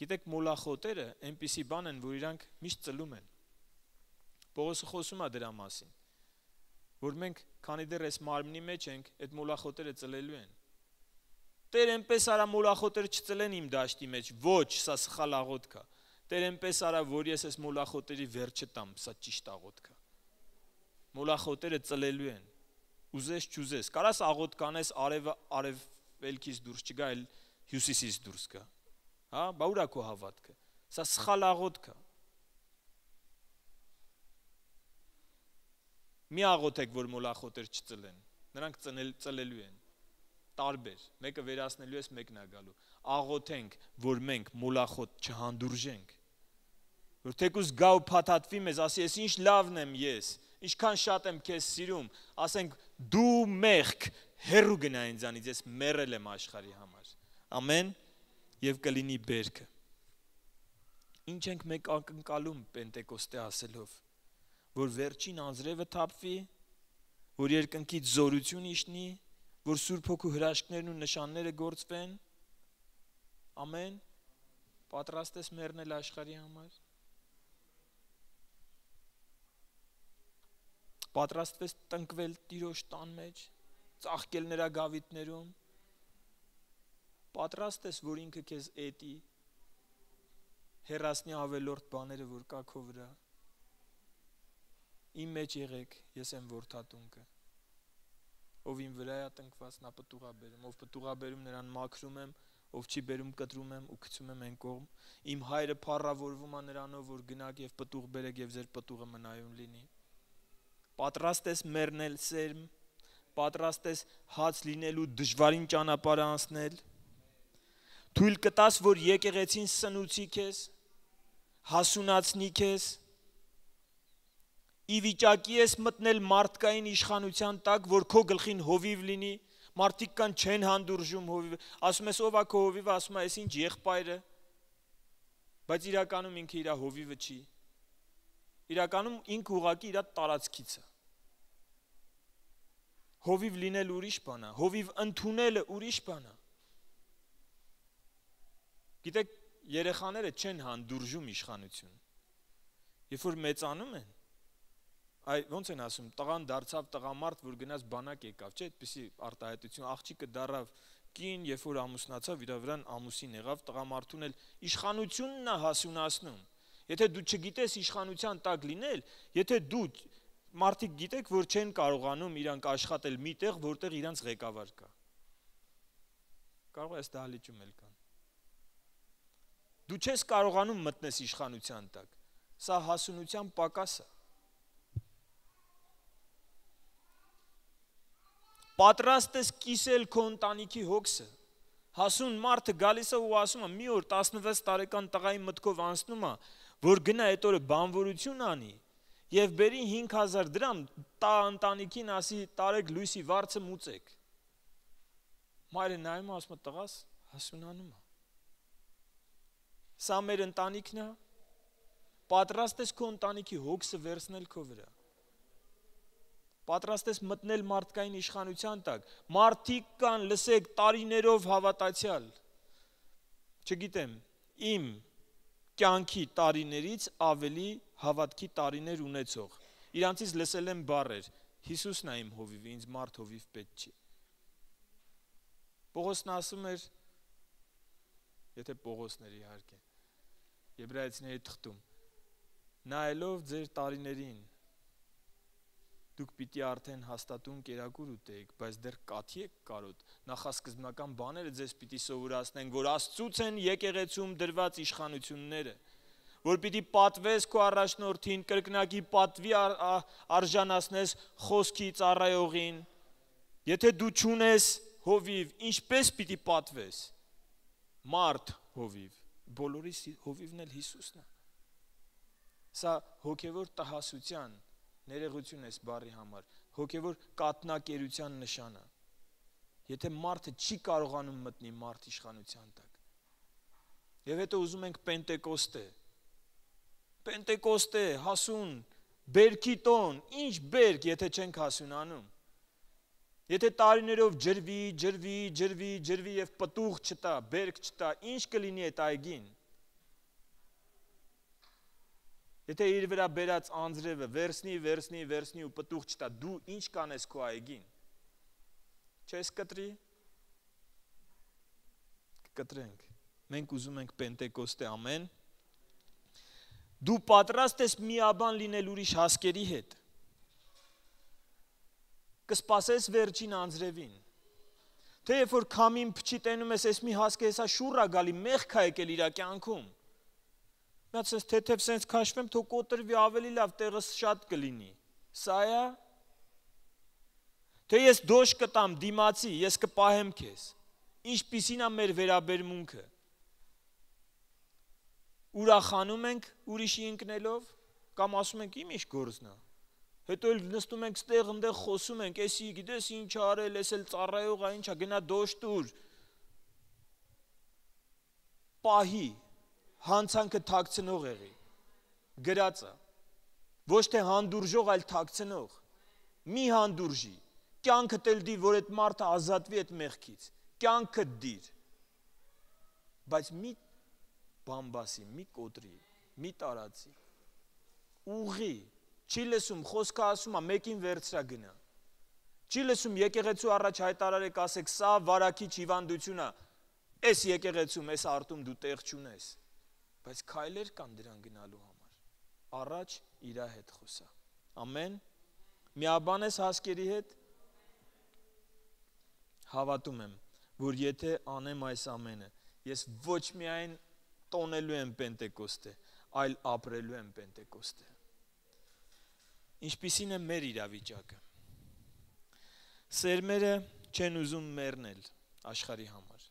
Գիտեք, մոլախոտերը այնպիսի բան են, որ իրանք միշտ ծլում են։ Պողոսը խոսում է դրա մասին, որ մենք, քանի դեռ այս մարմնի մեջ ենք, այդ մոլախոտերը ծլելու են։ Տեր այնպես արա մոլախոտերը չծլեն իմ դաշտի մեջ, ոչ, սա սխալ աղոթք է։ Տեր այնպես արա, որ ես այս մոլախոտերի վերջը տամ, սա ճիշտ աղոթք է։ Մոլախոտերը ծլելու են։ Ուզես չուզես, կարաս աղոթք անես արևելքից դուրս չգա, այլ հյուսիսից դուրս գա։ Հա, բա ուր է քո հավատքը։ Սա սխալ աղոթք է։ Մի աղոթեք, որ մոլախոտեր չծլեն։ Նրանք ծլելու են։ Տարբեր, մեկը վերացնելու ես, մեկն է գալու։ Աղոթենք, որ մենք մոլախոտ չհանդուրժենք։ Որ թեկուզ գա ու փաթաթվի մեզ, ասի, ես ինչ լավն եմ ես, ինչքան շատ եմ քեզ սիրում, ասենք դու մեղք, հեռու գնա ինձանից, ես մեռել եմ աշխարհի համար։ Ամեն, եւ կլինի բերքը։ Ինչ ենք մենք ակնկալում Պենտեկոստե ասելով, որ վերջին անձրևը թափվի, որ երկնքից զորություն իջնի, որ Սուրբ Հոգու հրաշքներն ու նշանները գործվեն։ Ամեն։ Պատրաստ ես մեռնել աշխարհի համար։ Պատրաստվես տնկվել Տիրոջ տան մեջ, ծաղկել նրա գավիթներում։ Պատրաստ ես, որ ինքը քեզ էտի, հեռացնի ավելորդ բաները, որ կա քո վրա։ Իմ մեջ եղեք, ես եմ որդատունկը։ Ով իմ վրա է տնկված, նա պտուղ է բերում, ով պտուղ է բերում, նրան մաքրում եմ, ով չի բերում, կտրում եմ ու գցում եմ այն կողմ։ Իմ հայրը փառավորվում է նրանով, որ գնաք եւ պտուղ բերեք եւ ձեր պտուղը մնայուն լինի։ Պատրաստ ես մեռնել սերմ, պատրաստ ես հաց լինելու դժվարին ճանապարհը անցնել։ Թույլ կտաս, որ եկեղեցին սնուցի քեզ, հասունացնի քեզ։ Ի վիճակի ես մտնել մարդկային իշխանության տակ, որ քո գլխին հովիվ լինի, մարդիկ կան չեն հանդուրժում հովիվը, ասում ես ով է քո հովիվը, ասում է այս ինչ եղբայրը, բայց իրականում ինքը իր հովիվը չի, իրականում ինքը ուղղակի իր տարածքից է։ Հովիվ լինել ուրիշ բան է, հովիվ ընդունելը ուրիշ բան է։ Գիտեք, երեխաները չեն հանդուրժում իշխանություն, երբ որ մեծանում են, ոնց են ասում, տղան դարձավ տղամարդ, որ գնաց բանակ եկավ, չէ, այդպիսի արտահայտություն, աղջիկը դառավ կին, երբ որ ամուսնացավ, իր վրան ամուսին եղավ, տղամարդուն էլ իշխանությունն է հասունացնում։ Եթե դու չգիտես իշխանության տակ լինել, եթե դու մարդիկ գիտեք, որ չեն կարողանում իրանք աշխատել միտեղ, որտեղ իրանք ղեկավար կա։ Կարող է այս դահլիճում էլ կան։ Դու չես կարողանում մտնես իշխանության տակ։ Սա հասունության պակաս է։ Պատրաստ ես կիսել քո ընտանիքի հոգսը։ Հասուն մարդը գալիս է ու ասում է՝ մի օր 16 տարեկան տղայի մտքով անցնում է, որ գնա այդ օրը բանվորություն անի եւ բերի 5000 դրամ տա ընտանիքին, ասի տարեք լույսի վարձը մուծեք։ Մայրը նայում է, ասում է՝ տղաս հասունանում է։ Սա մեր ընտանիքն է։ Պատրաստ ես քո ընտանիքի հոգսը վերցնել քո վրա։ Պատրաստ ես մտնել մարդկային իշխանության տակ։ Մարդիկ կան, լսեք, տարիներով հավատացյալ։ Չգիտեմ, իմ կյանքի տարիներից ավելի հավատքի տարիներ ունեցող։ Իրանցից լսել եմ բառեր. Հիսուսն է իմ հովիվը, ինձ մարդ հովիվ պետք չի։ Պողոսն ասում էր, եթե Պողոսներ իհարկե, Եբրայեցիների թղթում, նայելով ձեր տարիներին, դուք պիտի արդեն հաստատուն կերակուր ուտեիք, բայց դեռ կաթի եք կարոտ, նախասկզբնական բաները ձեզ պիտի սովորացնեն, որ Աստծուց են եկեղեցում դրված իշխանությունները, որ պիտի պատվես քո առաջնորդին, կրկնակի պատվի արժանացնես խոսքի ծառայողին, եթե դու չունես հովիվ, ինչպես պիտի պատվես, մարդ հովիվ, բոլորի հովիվն էլ Հիսուսն է, սա հոգևոր տհասության ներողություն ես բառի համար, հոգևոր կատնակերության նշանը, եթե մարդը չի կարողանում մտնի մարդ իշխանության տակ, և հետո ուզում ենք Պենտեկոստե, հասուն, բերքի տոն, ինչ բերք, եթե չենք հասունանում, եթե տարիներով ջրվի և պտուղ չտա, բերք չտա, ինչ կլինի այդ այգին, եթե իր վրա բերած անձրևը վերցնի ու պտուղ չտա, դու ինչ կանես քո այգին, չես կտրի, կտրենք, մենք ուզում ենք Պենտեկոստե, ամեն, դու պատրաստ ես միաբան լինել ուրիշ հասկերի հետ, կսպասես վերջին անձրևին, թե երբ որ քամին փչի տենում ես, ես մի հասկե հեսա շուռ ա գալի, մեղք ա եկել իրա կյանքում, միած սենց թեթև սենց քաշվեմ, թող կոտրվի ավելի լավ, տեղը շատ կլինի, սա է, թե ես դոշ կտամ դիմացի, ես կպահեմ քեզ, ինչպիսին է մեր վերաբերմունքը, ուրախանում ենք ուրիշի ընկնելով, կամ ասում ենք իմ ինչ գործն է, հետո էլ նստում ենք ստեղ ընդեղ խոսում ենք, էսի գիտես ինչ արել, ես էլ ծառայող է, ինչ է, գնա դոշ տուր, պահի, հանցանքը թաքցնող եղի, գրածը, ոչ թե հանդուրժող, այլ թաքցնող, մի հանդուրժի, կյանքը տել դիր, որ այդ մարդը ազատվի այդ մեղքից, կյանքը դիր, բայց մի բամբասի, մի կոտրի, մի տարածի, ուղի, չի լսում, խոսքը ասում է, մեկին վերցրա գնա, չի լսում եկեղեցու առաջ հայտարարեք ասեք, սա վարակիչ հիվանդություն է, այս եկեղեցում, այս արտում դու տեղ չունես, բայց քայլեր կան դրան գնալու համար, առաջ իրա հետ խոսա, ամեն, միաբան ես հասկերի հետ, հավատում եմ, որ եթե անեմ այս ամենը, ես ոչ միայն տոնելու եմ Պենտեկոստե, այլ ապրելու եմ Պենտեկոստե, ինչպիսին է մեր իրավիճակը, սերմերը չեն ուզում մեռնել աշխարհի համար,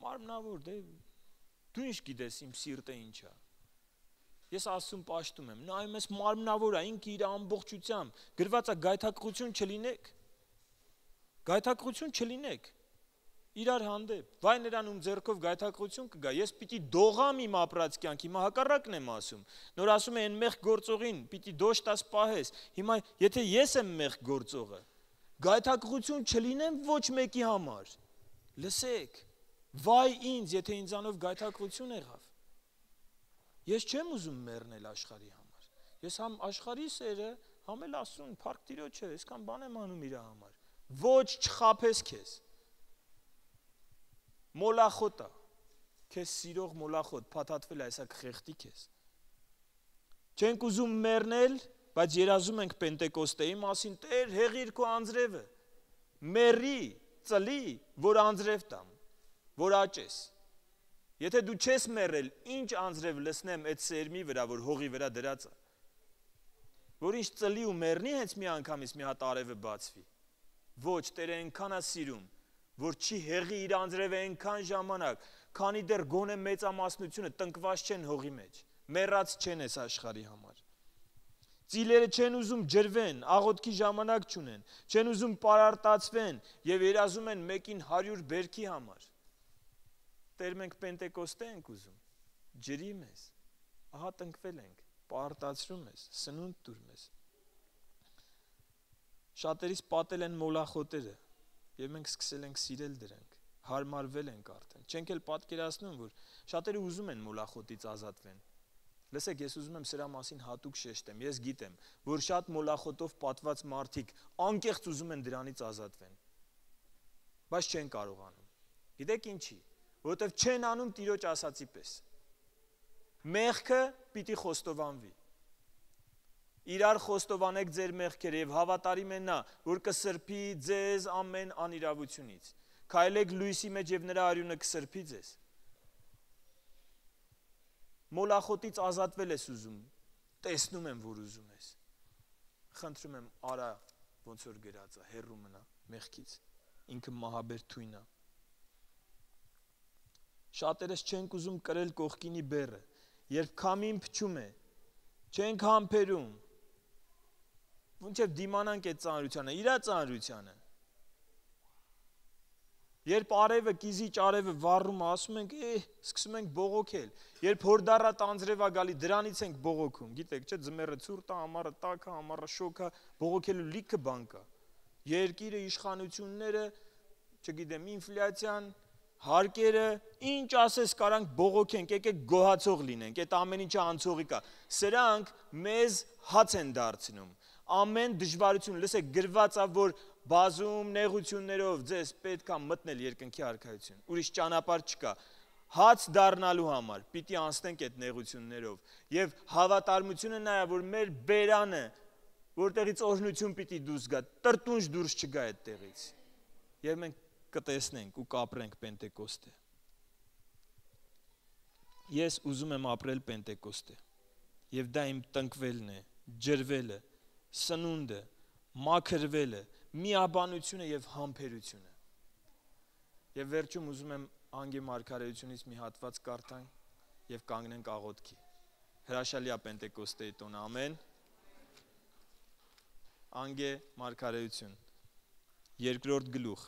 մարմնավոր, դու ինչ գիտես իմ սիրտը ինչ է, ես Աստծուն պաշտում եմ, նայում ես մարմնավոր է, ինքը իր ամբողջությամբ, գրված է գայթակղություն չլինեք, իրար հանդեպ, վայ նրան ում ձեռքով գայթակղություն կգա, ես պիտի դողամ իմ ապրած կյանք, հիմա հակառակն եմ ասում, նոր ասում է այն մեղք գործողին, պիտի դոշ տաս պահես, հիմա եթե ես եմ մեղք գործողը, գայթակղություն չլինեմ ոչ մեկի համար, լսեք, վայ ինձ, եթե ինձանով գայթակղություն եղավ, ես չեմ ուզում մեռնել աշխարհի համար, ես համ աշխարհի սերը, համ էլ Աստծուն, փառք Տիրոջը, այսքան բան եմ անում իր համար, ոչ չխաբես քեզ, մոլախոտա, Քեզ սիրող մոլախոտ փաթաթվել է այսա կխեղդի քեզ։ Չենք ուզում մեռնել, բայց երազում ենք Պենտեկոստեի մասին, Տեր, հեղիր քո անձրևը, մեռի, ծլի, որ անձրև տամ, որ աճես։ Եթե դու չես մեռել, ինչ անձրև լսնեմ այդ սերմի վրա, որ հողի վրա դրած է, որ ինչ ծլի ու մեռնի հենց մի անգամից մի հատ արևը բացվի։ Ոչ, Տերը այնքան է սիրում, որ չի հեղի իր անձրևը այնքան ժամանակ, քանի դեռ գոնե մեծամասնությունը տնկված չեն հողի մեջ, մեռած չեն այս աշխարհի համար։ Ծիլերը չեն ուզում ջրվեն, աղոթքի ժամանակ չունեն, չեն ուզում պարարտացվեն եւ երազում են մեկին 100 բերքի համար։ Տեր մենք Պենտեկոստե ենք ուզում, ջրի մեզ, ահա տնկվել ենք, պարարտացրում ես, սնունդ տուր մեզ։ Շատերից պատել են մոլախոտերը եւ մենք սկսել ենք սիրել դրանք, հարմարվել ենք արդեն։ Չենք էլ պատկերացնում, որ շատերը ուզում են մոլախոտից ազատվեն։ Լսեք, ես ուզում եմ սրա մասին հատուկ շեշտեմ։ Ես գիտեմ, որ շատ մոլախոտով պատված մարդիկ անկեղծ ուզում են դրանից ազատվեն, բայց չեն կարողանում։ Գիտեք ինչի, որովհետև չեն անում Տիրոջ ասացի պես։ Մեղքը պիտի խոստովանվի։ Իրար խոստովանեք ձեր մեղքերը եւ հավատարիմ է նա, որ կսրբի ձեզ ամեն անիրավությունից։ Քայլեք լույսի մեջ եւ նրա արյունը կսրբի ձեզ։ Մոլախոտից ազատվել ես ուզում, տեսնում եմ, որ ուզում ես։ Խնդրում եմ, արա, ոնց որ գրած է, հեռու մնա մեղքից, ինքը մահաբեր թույն է։ Շատերս չենք ուզում կրել կողքինի բեռը, երբ քամին փչում է, չենք համբերում, ոնչև դիմանանք այդ ծանրությանը, իրա ծանրությանը։ Երբ արևը, կիզիչ արևը վառում է, ասում ենք, սկսում ենք բողոքել։ Երբ հորդառատ անձրև է գալի, դրանից ենք բողոքում։ Գիտեք, չէ, ձմեռը ցուրտ է, ամառը տաք է, ամառը շոգ է, բողոքելու լիքը բան կա։ Երկիրը, իշխանությունները, չգիտեմ, ինֆլյացիան, հարկերը, ինչ ասես կարանք բողոքենք, եկեք գոհացող լինենք, այդ ամեն ինչը անցողի կա։ Սրանք մեզ հաց են դարձնում։ Ամեն դժվարություն, լսեք, գրված է, որ բազում նեղություններով ձեզ պետք է մտնել երկնքի արքայություն։ Ուրիշ ճանապարհ չկա։ Հաց դառնալու համար պիտի անցնենք այդ նեղություններով։ Եվ հավատարմությունը նա է, որ մեր բերանը, որտեղից օրհնություն պիտի դուրս գա, տրտունջ դուրս չգա այդտեղից։ Եվ մենք կտեսնենք ու կապրենք Պենտեկոստե։ Ես ուզում եմ ապրել Պենտեկոստե։ Եվ դա իմ տնկվելն է, ջրվելը, սնունդը, մաքրվելը, միաբանությունը եւ համբերությունը։ Եվ վերջում ուզում եմ Անգե մարգարեությունից մի հատված կարդանք եւ կանգնենք աղոթքի։ Հրաշալի է Պենտեկոստեի տոնը, ամեն։ Անգե մարգարեություն, 2-րդ գլուխ։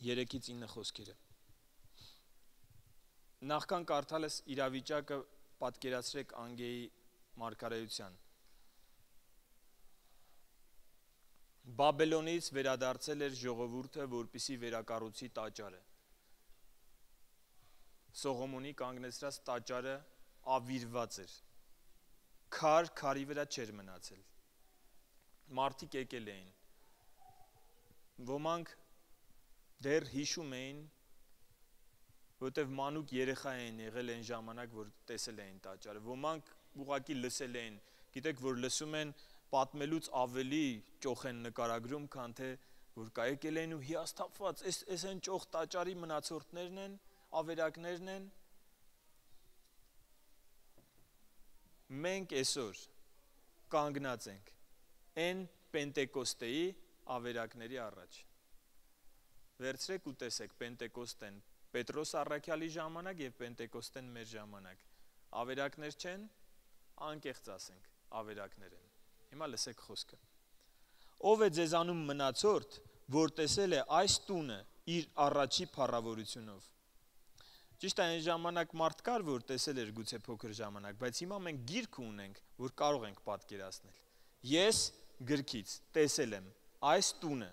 Երեքից 9 խոսքերը։ Նախքան կարդալս իրավիճակը պատկերացրեք Անգեի մարգարեության։ Բաբելոնից վերադարձել էր ժողովուրդը, որպեսզի վերակառուցի տաճարը։ Սողոմոնի կանգնեցրած տաճարը ավիրված էր։ Քարի վրա չէր մնացել։ Մարդիկ եկել էին։ Ոմանք դեռ հիշում էին, որտեվ մանուկ երեխա էին եղել այն ժամանակ, որ տեսել էին տաճարը։ Ոմանք ուղղակի լսել էին, գիտեք, որ լսում են պատմելուց ավելի ճոխ են նկարագրում, քան թե որ կա եկել են ու հիասթափված, այս են ճոխ տաճարի մնացորդներն են, ավերակներն են։ Մենք այսօր կանգնած ենք այն Պենտեկոստեի ավերակների առաջ։ Վերցրեք ու տեսեք Պենտեկոստեն Պետրոս առաքյալի ժամանակ եւ Պենտեկոստեն մեր ժամանակ։ Ավերակներ չեն, անկեղծ ասենք, ավերակներ են։ Հիմա լսեք խոսքը։ Ով է ձեզանում մնացորդ, որ տեսել է այս տունը իր առաջի փառավորությունով։ Ճիշտ է, այն ժամանակ մարդ կար, որ տեսել էր գուցե փոքր ժամանակ, բայց հիմա մենք գիրք ունենք, որ կարող ենք պատկերացնել։ Ես գրքից տեսել եմ այս տունը,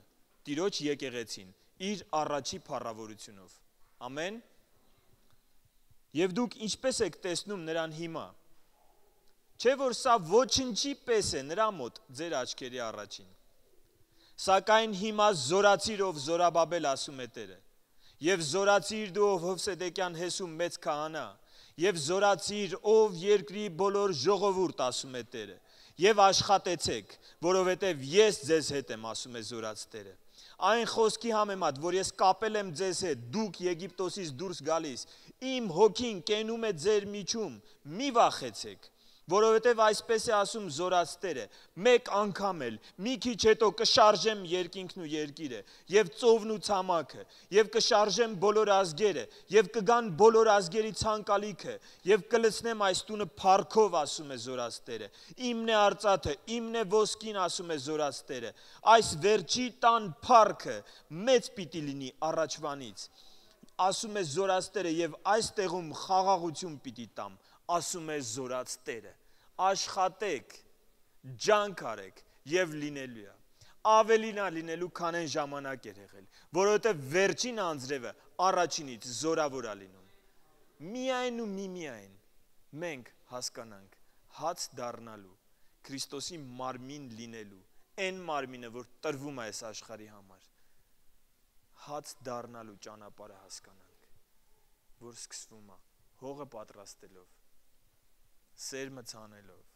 Տիրոջ եկեղեցին, իր առաջի փառավորությունով։ Ամեն։ Եվ դուք ինչպես եք տեսնում նրան հիմա։ Չէ որ սա ոչնչի պես է նրա մոտ ձեր աչքերի առաջին։ Սակայն հիմա զորացիր, ով Զորաբաբել, ասում է Տերը, եւ զորացիր դու, ով Հովսեդեկյան Հեսու մեծ քահանա, եւ զորացիր, ով երկրի բոլոր ժողովուրդ, ասում է Տերը, եւ աշխատեցեք, որովհետեւ ես ձեզ հետ եմ, ասում է զորաց Տերը։ Այն խոսքի համեմատ, որ ես կապել եմ ձեզ հետ, դուք Եգիպտոսից դուրս գալիս, իմ հոգին կենում է ձեր միջում, մի վախեցեք, որովհետև այսպես է ասում զորաց Տերը, մեկ անգամ էլ, մի քիչ հետո կշարժեմ երկինքն ու երկիրը, եւ ծովն ու ցամաքը, եւ կշարժեմ բոլոր ազգերը, եւ կգան բոլոր ազգերի ցանկալիքը, եւ կլցնեմ այս տունը փառքով, ասում է զորաց Տերը։ Իմն է արծաթը, իմն է ոսկին, ասում է զորաց Տերը։ Այս վերջի տան փառքը մեծ պիտի լինի առաջվանից, ասում է զորաց Տերը, եւ այս տեղում խաղաղություն պիտի տամ, ասում է զորաց Տերը։ Աշխատեք, ջանք արեք եւ լինելու է։ Ավելին է լինելու, քան այն ժամանակ էր եղել, որովհետեւ վերջին անձրևը առաջինից զորավոր է լինում։ Միայն ու միմիայն մենք հասկանանք հաց դառնալու, Քրիստոսի մարմին լինելու, այն մարմինը, որ տրվում է այս աշխարհի համար, հաց դառնալու ճանապարհը հասկանանք, որ սկսվում է հողը պատրաստելով, սերմը ցանելով,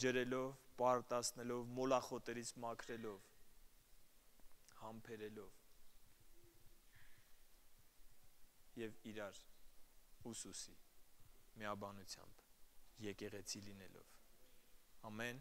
ջրելով, պարտացնելով, մոլախոտերից մաքրելով, համբերելով եւ իրար ուսուսի միաբանությամբ եկեղեցի լինելով։ Ամեն